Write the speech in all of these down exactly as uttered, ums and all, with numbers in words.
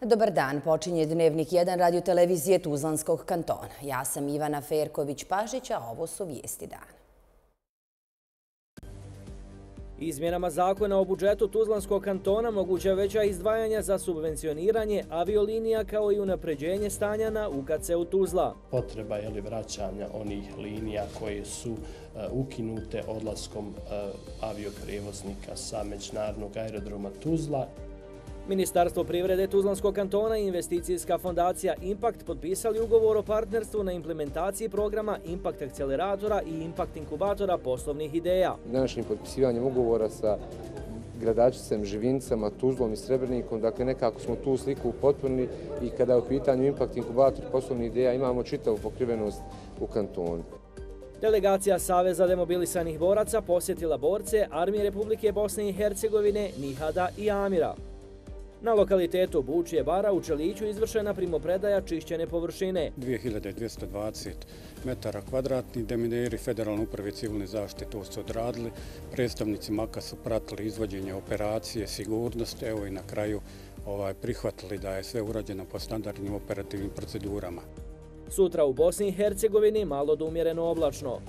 Dobar dan, počinje Dnevnik jedan radiotelevizije Tuzlanskog kantona. Ja sam Ivana Ferković-Pašić, a ovo su vijesti dana. Izmjenama zakona o budžetu Tuzlanskog kantona moguća veća izdvajanja za subvencioniranje aviolinija kao i unapređenje stanja na U K C-u Tuzla. Potreba je li vraćanja onih linija koje su uh, ukinute odlaskom uh, avioprevoznika sa međunarodnog aerodroma Tuzla. Ministarstvo privrede Tuzlanskog kantona i investicijska fondacija Impact potpisali ugovor o partnerstvu na implementaciji programa Impact akceleratora i Impact inkubatora poslovnih ideja. Današnjim potpisivanjem ugovora sa Gradačicem, Živincama, Tuzlom i Srebrnikom, dakle nekako smo tu sliku upotpunili i kada je u pitanju Impact inkubator poslovnih ideja imamo čitavu pokrivenost u kantonu. Delegacija Saveza demobilisanih boraca posjetila borce Armije Republike Bosne i Hercegovine, Nihada i Amira. Na lokalitetu Bučje bara u Čeliću izvršena primopredaja čišćene površine. dvije hiljade dvjesto dvadeset metara kvadratnih, demineri Federalne uprave civilne zaštite to su odradili, predstavnici MAK-a su pratili izvođenje operacije, sigurnost, evo i na kraju ovaj, prihvatili da je sve urađeno po standardnim operativnim procedurama. Sutra u Bosni i Hercegovini malo do umjereno oblačno.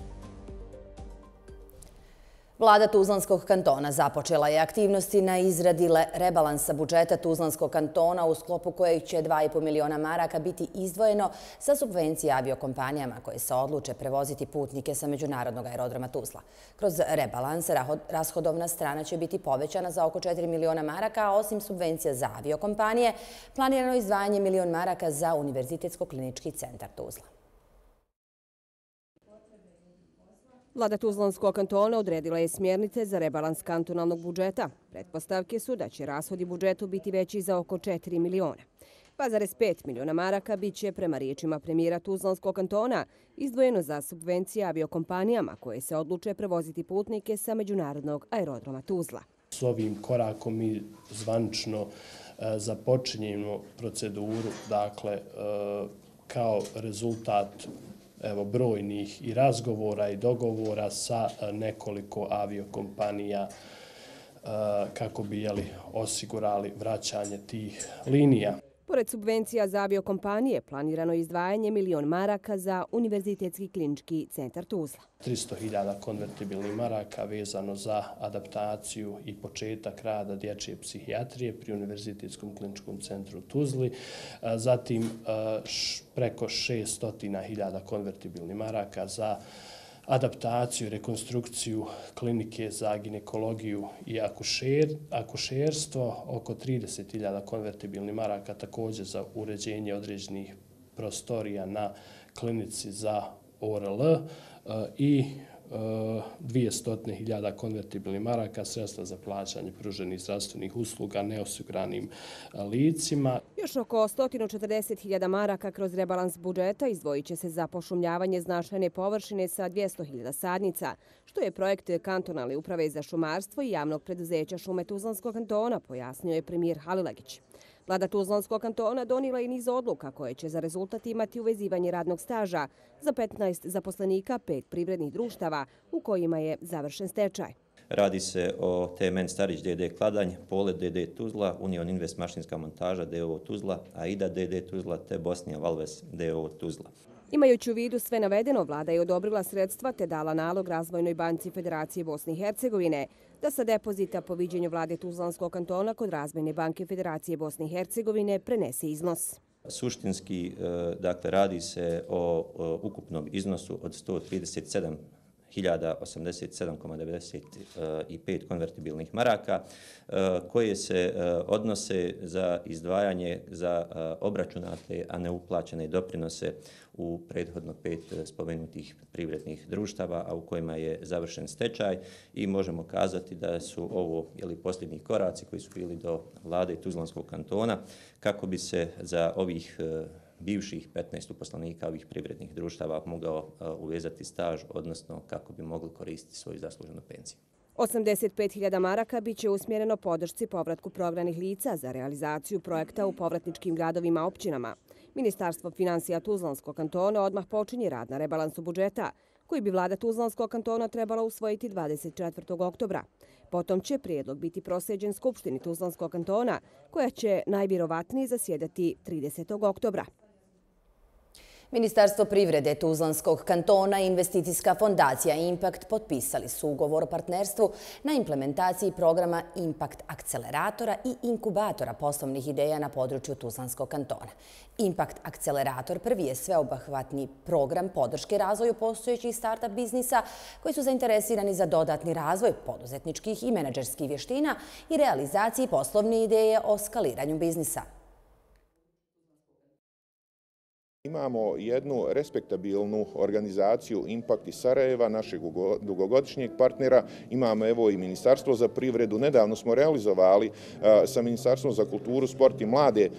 Vlada Tuzlanskog kantona započela je aktivnosti na izradi rebalansa budžeta Tuzlanskog kantona u sklopu kojeg će dva i po miliona maraka biti izdvojeno za subvencije aviokompanijama koje se odluče prevoziti putnike sa međunarodnog aerodroma Tuzla. Kroz rebalans rashodovna strana će biti povećana za oko četiri miliona maraka, a osim subvencija za aviokompanije, planirano izdvajanje milion maraka za Univerzitetsko-klinički centar Tuzla. Vlada Tuzlanskog kantona odredila je smjernice za rebalans kantonalnog budžeta. Pretpostavke su da će rashodi budžetu biti veći za oko četiri miliona. dva zarez pet miliona maraka bit će, prema riječima premijera Tuzlanskog kantona, izdvojeno za subvencije aviokompanijama koje se odluče prevoziti putnike sa međunarodnog aerodroma Tuzla. S ovim korakom mi zvanično e, započinjemo proceduru, dakle, e, kao rezultat evo, brojnih i razgovora i dogovora sa nekoliko aviokompanija kako bi jeli, osigurali vraćanje tih linija. Pored subvencija za aviokompanije, planirano je izdvajanje milion maraka za Univerzitetski klinički centar Tuzla. tristo hiljada konvertibilnih maraka vezano za adaptaciju i početak rada dječje psihijatrije pri Univerzitetskom kliničkom centru Tuzli. Zatim preko šesto hiljada konvertibilnih maraka za adaptaciju i rekonstrukciju klinike za ginekologiju i akušer, akušerstvo, oko trideset hiljada konvertibilnih maraka također za uređenje određenih prostorija na klinici za O R L i dvjesto hiljada konvertibilnih maraka sredstva za plaćanje pruženih zdravstvenih usluga neosiguranim licima. Još oko sto četrdeset hiljada maraka kroz rebalans budžeta izdvojit će se za pošumljavanje značajne površine sa dvjesto hiljada sadnica, što je projekt kantonalne uprave za šumarstvo i javnog preduzeća Šume Tuzlanskog kantona, pojasnio je premijer Halilagić. Vlada Tuzlanskog kantona donijela je niz odluka koje će za rezultat imati uvezivanje radnog staža za petnaest zaposlenika pet privrednih društava u kojima je završen stečaj. Radi se o T M N Starić D D Kladanj, Polet D D Tuzla, Union Invest mašinska montaža D O O Tuzla, Aida D D Tuzla te Bosnija Valves D O O Tuzla. Imajući u vidu sve navedeno, vlada je odobrila sredstva te dala nalog Razvojnoj banci Federacije Bosne i Hercegovine da sa depozita po viđenju vlade Tuzlanskog kantona kod Razvojne banke Federacije Bosne i Hercegovine prenese iznos. Suštinski, dakle, radi se o ukupnom iznosu od sto trideset sedam hiljada osamdeset sedam zarez devedeset pet konvertibilnih maraka koje se odnose za izdvajanje za obračunate, a ne uplaćene doprinose u prethodno pet spomenutih privrednih društava, a u kojima je završen stečaj i možemo kazati da su ovo jeli, posljednji koraci koji su bili do vlade Tuzlanskog kantona kako bi se za ovih bivših petnaest uposlenika ovih privrednih društava mogao uvezati staž, odnosno kako bi mogli koristiti svoju zasluženu penziju. osamdeset pet hiljada maraka bit će usmjereno podršci povratku prognanih lica za realizaciju projekta u povratničkim gradovima općinama. Ministarstvo financija Tuzlanskog kantona odmah počinje rad na rebalansu budžeta, koji bi vlada Tuzlanskog kantona trebala usvojiti dvadeset četvrtog oktobra. Potom će prijedlog biti proslijeđen Skupštini Tuzlanskog kantona, koja će najvjerovatnije zasjedati tridesetog oktobra. Ministarstvo privrede Tuzlanskog kantona i investicijska fondacija Impact potpisali su ugovor o partnerstvu na implementaciji programa Impact akceleratora i inkubatora poslovnih ideja na području Tuzlanskog kantona. Impact akcelerator prvi je sveobuhvatni program podrške razvoju postojećih start-up biznisa koji su zainteresirani za dodatni razvoj poduzetničkih i menadžerskih vještina i realizaciji poslovne ideje o skaliranju biznisa. Imamo jednu respektabilnu organizaciju Impact iz Sarajeva, našeg dugogodišnjeg partnera. Imamo evo i Ministarstvo za privredu. Nedavno smo realizovali sa Ministarstvom za kulturu, sport i mlade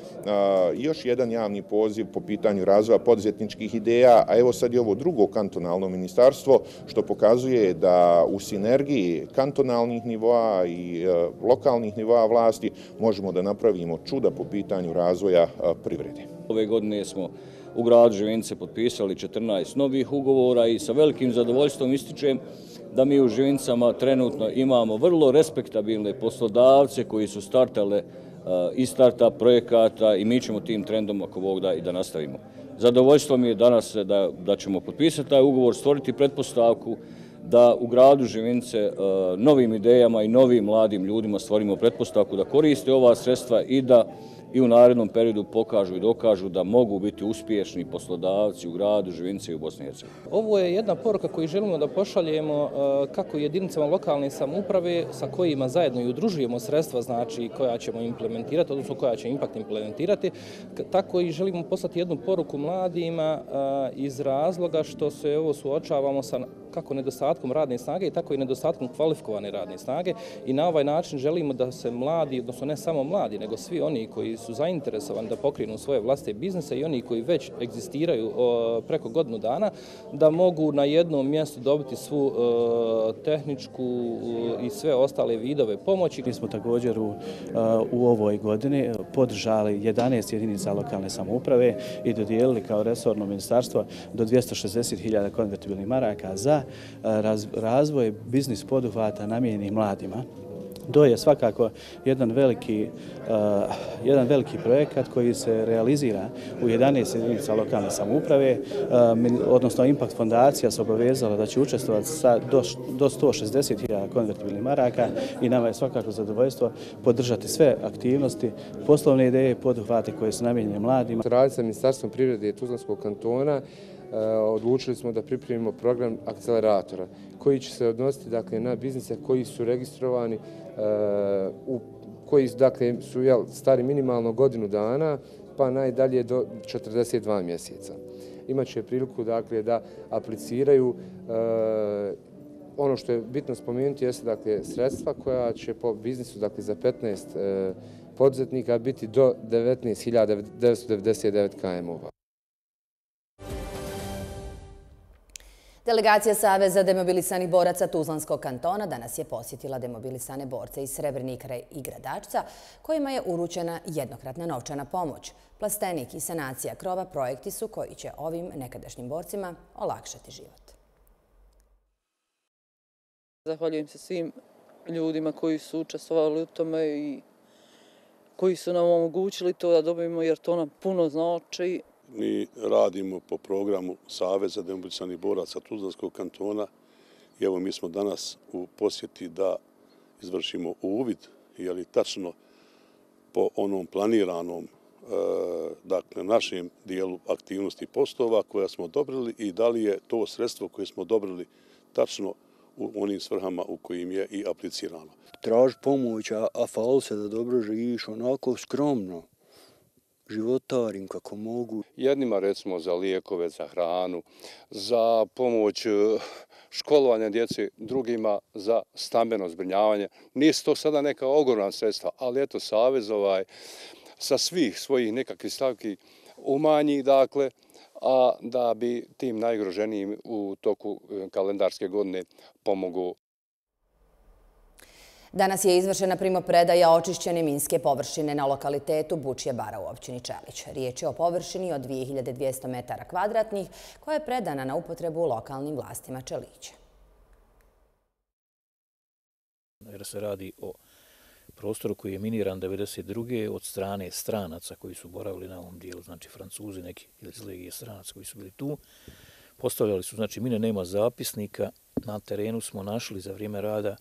još jedan javni poziv po pitanju razvoja poduzetničkih ideja, a evo sad je ovo drugo kantonalno ministarstvo, što pokazuje da u sinergiji kantonalnih nivoa i lokalnih nivoa vlasti možemo da napravimo čuda po pitanju razvoja privrede. Ove godine smo u gradu Živinice potpisali četrnaest novih ugovora i sa velikim zadovoljstvom ističem da mi u Živinicama trenutno imamo vrlo respektabilne poslodavce koji su startale iz startup projekata i mi ćemo tim trendom ako Bog da i da nastavimo. Zadovoljstvo mi je danas da, da ćemo potpisati taj ugovor, stvoriti pretpostavku da u gradu Živinice novim idejama i novim mladim ljudima stvorimo pretpostavku da koriste ova sredstva i da i u narednom periodu pokažu i dokažu da mogu biti uspješni poslodavci u gradu Živinice i u Bosni i Hercegovini. Ovo je jedna poruka koju želimo da pošaljemo kako jedinicama lokalne samouprave sa kojima zajedno i udružujemo sredstva, znači koja ćemo implementirati, odnosno koja će Impact implementirati, tako i želimo poslati jednu poruku mladima iz razloga što se ovo suočavamo sa kako nedostatkom radne snage i tako i nedostatkom kvalifikovane radne snage i na ovaj način želimo da se mladi, odnosno ne samo mladi, nego svi oni koji su zainteresovani da pokrenu svoje vlastite biznise i oni koji već egzistiraju preko godinu dana, da mogu na jednom mjestu dobiti svu tehničku i sve ostale vidove pomoći. Mi smo također u, u ovoj godini podržali jedanaest jedinica lokalne samouprave i dodijelili kao resorno ministarstvo do dvjesto šezdeset hiljada konvertibilnih maraka za razvoj biznis poduhvata namijenjenih mladima. To je svakako jedan veliki, uh, jedan veliki projekat koji se realizira u jedanaest jedinica lokalne samouprave, uh, odnosno Impact fondacija se obavezala da će učestvovati sa do, do sto šezdeset hiljada konvertibilnih maraka i nama je svakako zadovoljstvo podržati sve aktivnosti, poslovne ideje i poduhvate koje su namijenjene mladima. Raditi sa Ministarstvom privrede i Tuzlanskog kantona odlučili smo da pripremimo program akceleratora koji će se odnositi dakle, na biznise koji su registrovani, u, koji dakle, su jel, stari minimalno godinu dana pa najdalje do četrdeset dva mjeseca. Imaće priliku dakle, da apliciraju. Ono što je bitno spomenuti jeste dakle, sredstva koja će po biznisu dakle, za petnaest poduzetnika biti do devetnaest hiljada devetsto devedeset devet km-ova. Delegacija Saveza demobilisanih boraca Tuzlanskog kantona danas je posjetila demobilisane borce iz Srebrenika i Gradačca, kojima je uručena jednokratna novčana pomoć. Plastenik i sanacija krova projekti su koji će ovim nekadašnjim borcima olakšati život. Zahvaljujem se svim ljudima koji su učestvovali u tome i koji su nam omogućili to da dobijemo, jer to nam puno znači. Mi radimo po programu Saveza demobilisanih boraca Tuzlanskog kantona i evo mi smo danas u posjeti da izvršimo uvid, je li tačno po onom planiranom dakle, našem dijelu aktivnosti poslova koja smo odobrili i da li je to sredstvo koje smo odobrili tačno u onim svrhama u kojim je i aplicirano. Traži pomoć, a, a fali se da dobro živiš, onako skromno. Životarim kako mogu. Jednima recimo za lijekove, za hranu, za pomoć školovanja djece, drugima za stambeno zbrinjavanje. Nisu to sada neka ogromna sredstva, ali eto Savez ovaj, sa svih svojih nekakvih stavki umanji, dakle, a da bi tim najugroženijim u toku kalendarske godine pomogao. Danas je izvršena primopredaja očišćene minske površine na lokalitetu Bučje bara u općini Čelić. Riječ je o površini od dvije hiljade dvjesto metara kvadratnih koja je predana na upotrebu lokalnim vlastima Čelića. Jer se radi o prostoru koji je miniran devedeset druge od strane stranaca koji su boravili na ovom dijelu, znači Francuzi, neki iz legije stranaca koji su bili tu. Postavljali su, znači mine, nema zapisnika, na terenu smo našli za vrijeme rada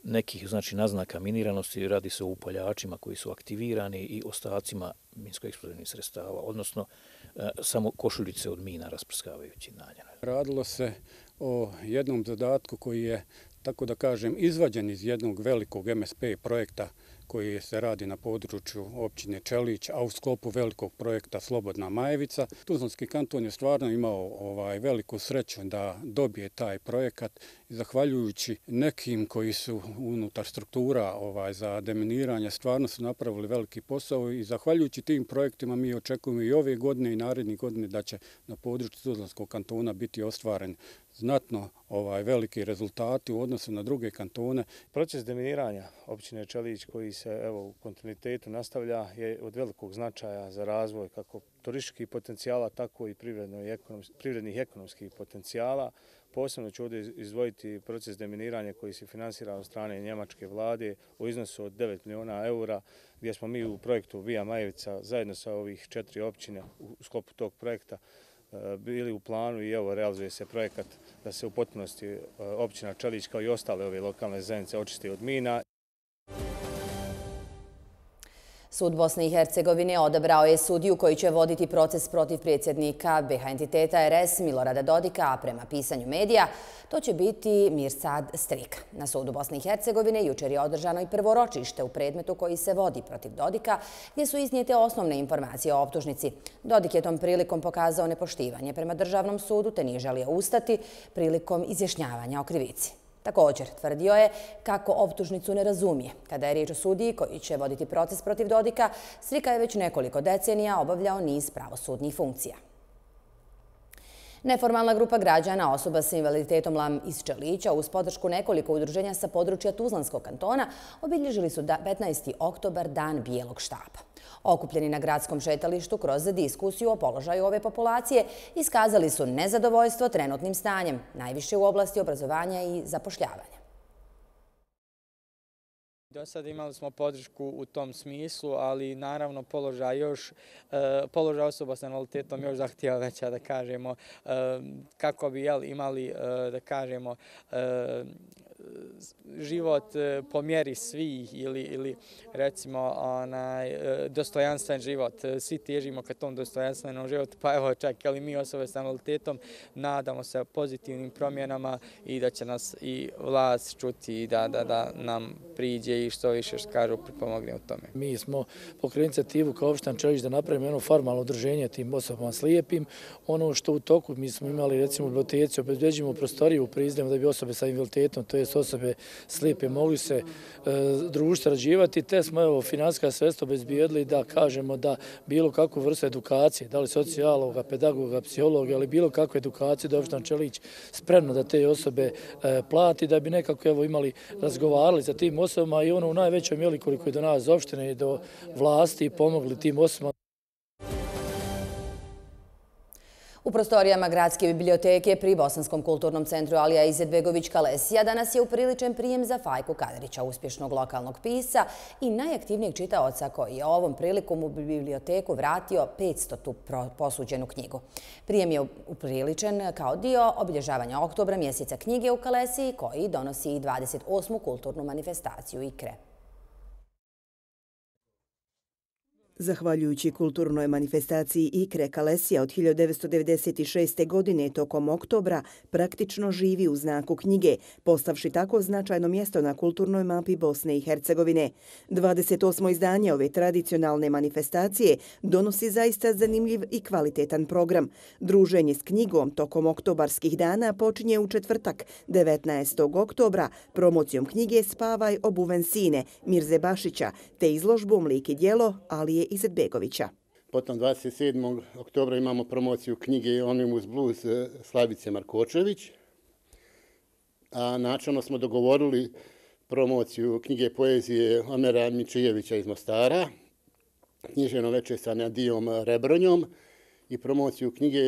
nekih, znači, naznaka miniranosti, radi se o upaljačima koji su aktivirani i ostacima minsko-eksplozivnih sredstava, odnosno e, samo košuljice od mina rasprskavajući na njene. Radilo se o jednom zadatku koji je, tako da kažem, izvađen iz jednog velikog M S P projekta koji se radi na području općine Čelić, a u sklopu velikog projekta Slobodna Majevica. Tuzlanski kanton je stvarno imao ovaj, veliku sreću da dobije taj projekat i zahvaljujući nekim koji su unutar struktura ovaj, za deminiranje stvarno su napravili veliki posao i zahvaljujući tim projektima mi očekujemo i ove godine i narednih godine da će na području Tuzlanskog kantona biti ostvaren znatno ovaj, veliki rezultati u odnosu na druge kantone. Proces deminiranja općine Čelić koji se evo, u kontinuitetu nastavlja je od velikog značaja za razvoj kako turističkih potencijala, tako i privrednih i ekonomskih potencijala. Posebno ću ovdje izdvojiti proces deminiranja koji se finansira od strane njemačke vlade u iznosu od devet miliona eura, gdje smo mi u projektu Via Majevica zajedno sa ovih četiri općine u sklopu tog projekta bili u planu i evo realizuje se projekat da se u potpunosti općina Čelić kao i ostale ove lokalne zajednice očisti od mina. Sud Bosne i Hercegovine odabrao je sudiju koji će voditi proces protiv predsjednika B H entiteta R S Milorada Dodika, a prema pisanju medija to će biti Mirsad Strik. Na sudu Bosne i Hercegovine jučer je održano i prvo ročište u predmetu koji se vodi protiv Dodika, gdje su iznijete osnovne informacije o optužnici. Dodik je tom prilikom pokazao nepoštivanje prema državnom sudu te nije želio ustati prilikom izjašnjavanja o krivici. Također, tvrdio je kako optužnicu ne razumije. Kada je riječ o sudiji koji će voditi proces protiv Dodika, Strika je već nekoliko decenija obavljao niz pravosudnih funkcija. Neformalna grupa građana osoba sa invaliditetom Lam iz Čelića uz podršku nekoliko udruženja sa područja Tuzlanskog kantona obilježili su petnaesti oktobar Dan bijelog štapa. Okupljeni na gradskom šetalištu kroz diskusiju o položaju ove populacije iskazali su nezadovoljstvo trenutnim stanjem, najviše u oblasti obrazovanja i zapošljavanja. Do sada imali smo podršku u tom smislu, ali naravno položaj još položaj osoba sa invaliditetom još zahtijeva veća, da kažemo, kako bi jel, imali, da kažemo, život po mjeri svih ili, ili recimo onaj, dostojanstven život. Svi težimo ka tom dostojanstvenom životu, pa evo čak ali mi osobe sa invaliditetom nadamo se pozitivnim promjenama i da će nas i vlast čuti i da, da, da nam priđe i što više što kažu pripomogne u tome. Mi smo pokrenuli inicijativu kao opština Čelić da napravimo jedno formalno udruženje tim osobama slijepim. Ono što u toku mi smo imali recimo u biblioteci, obezbeđujemo prostoriju u Prizrenu da bi osobe sa invaliditetom, to je osobe slijepe mogli se e, družiti, sarađivati, te smo evo finansijska sredstva obezbijedili da kažemo da bilo kakvu vrstu edukacije, da li socijaloga, pedagoga, psihologa ili bilo kakvu edukaciju da opština Čelić spremno da te osobe e, plati, da bi nekako evo imali razgovarali sa tim osobama i ono u najvećoj mjeri koliko je do nas opštine i do vlasti i pomogli tim osobama. U prostorijama Gradske biblioteke pri Bosanskom kulturnom centru Alija Izetbegović Kalesija danas je upriličen prijem za Fajku Kadrića, uspješnog lokalnog pisca i najaktivnijeg čitaoca koji je ovom prilikom u biblioteku vratio petstotu posuđenu knjigu. Prijem je upriličen kao dio obilježavanja oktobra mjeseca knjige u Kalesiji koji donosi i dvadeset osmu kulturnu manifestaciju IKRE. Zahvaljujući kulturnoj manifestaciji IKRE, Kalesija od hiljadu devetsto devedeset šeste. godine tokom oktobra praktično živi u znaku knjige, postavši tako značajno mjesto na kulturnoj mapi Bosne i Hercegovine. dvadeset osmo izdanje ove tradicionalne manifestacije donosi zaista zanimljiv i kvalitetan program. Druženje s knjigom tokom oktobarskih dana počinje u četvrtak, devetnaestog oktobra, promocijom knjige Spavaj obuven sine Mirze Bašića, te izložbom Lik i djelo Alije Izetbegovića. Potom dvadeset sedmog oktobra imamo promociju knjige Onimus Blues Slavice Markočević. A načelno smo dogovorili promociju knjige poezije Omera Mičijevića iz Mostara, knjiženo veče sa Nadijom Rebronjom i promociju knjige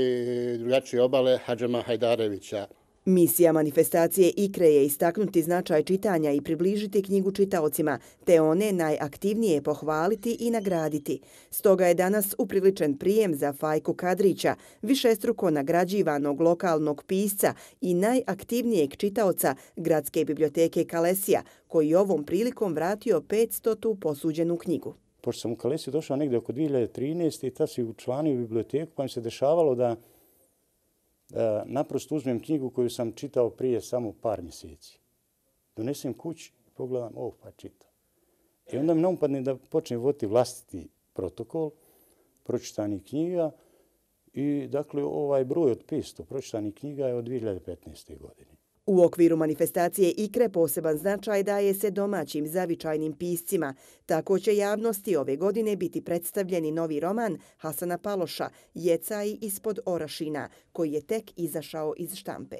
Drugačije obale Hadžama Hajdarevića. Misija manifestacije IKRE je istaknuti značaj čitanja i približiti knjigu čitaocima, te one najaktivnije pohvaliti i nagraditi. Stoga je danas upriličen prijem za Fajku Kadrića, višestruko nagrađivanog lokalnog pisca i najaktivnijeg čitaoca Gradske biblioteke Kalesija, koji ovom prilikom vratio petstotu posuđenu knjigu. Pošto sam u Kalesiju došao negdje oko dvije hiljade trinaeste. i tad si učlanio biblioteku, pa mi se dešavalo da naprosto uzmem knjigu koju sam čitao prije samo par mjeseci. Donesem kući, pogledam, oh, pa čitam. I onda mi naupadne da počnem voditi vlastiti protokol pročitanih knjiga i dakle ovaj broj od petsto pročitanih knjiga je od dvije hiljade petnaeste. godine. U okviru manifestacije IKRE poseban značaj daje se domaćim zavičajnim piscima. Tako će javnosti ove godine biti predstavljeni novi roman Hasana Paloša, Jecaj ispod Orašina, koji je tek izašao iz štampe.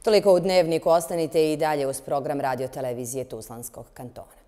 Toliko u Dnevniku. Ostanite i dalje uz program radio televizije Tuzlanskog kantona.